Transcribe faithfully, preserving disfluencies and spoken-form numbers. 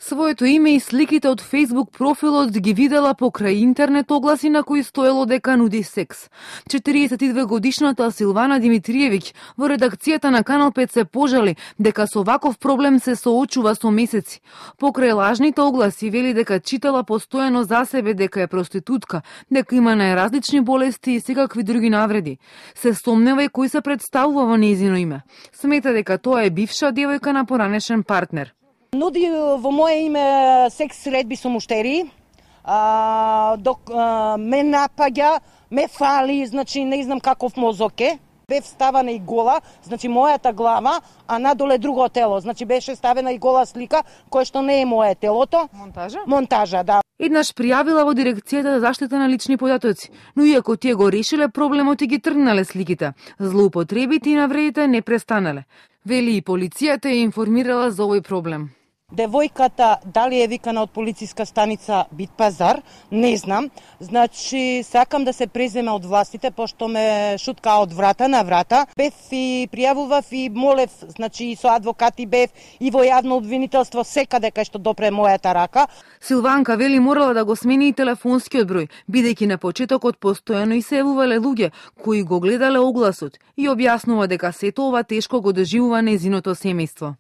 Своето име и сликите од Facebook профилот ги видела покрај интернет огласи на кои стоело дека нуди секс. четириесет и две годишната Силвана Димитриевиќ во редакцијата на Канал пет се пожали дека со ваков проблем се соочува со месеци. Покрај лажните огласи вели дека читала постојано за себе дека е проститутка, дека има најразлични болести и секакви други навреди. Се сомнева и кој се представува во нејзино име. Смета дека тоа е бивша девојка на поранешен партнер. Нуди во мое име секс средби со муштери, а, док а, ме напаѓа, ме фали, значи не знам каков мозок е. Бев ставена и гола, значи мојата глава, а надоле друго тело. Значи беше ставена и гола слика, која што не е мое телото. Монтажа? Монтажа, да. Еднаш пријавила во дирекцијата за заштита на лични податоци, но иако тие го решиле проблемот и ги тргнале сликите, злоупотребите и навредите не престанале. Вели и полицијата ја информирала за овој проблем. Девојката дали е викана од полициска станица Бит Пазар, не знам. Значи, сакам да се преземе од властите, пошто ме шутка од врата на врата. Бев и пријавував и молев, значи и со адвокати бев и во јавно обвинителство секаде кај што допре мојата рака. Силванка вели морала да го смени и телефонскиот број, бидејќи на почетокот постојано и се јавувале луѓе кои го гледале огласот и објаснува дека сето ова тешко го доживува нејзиното семејство.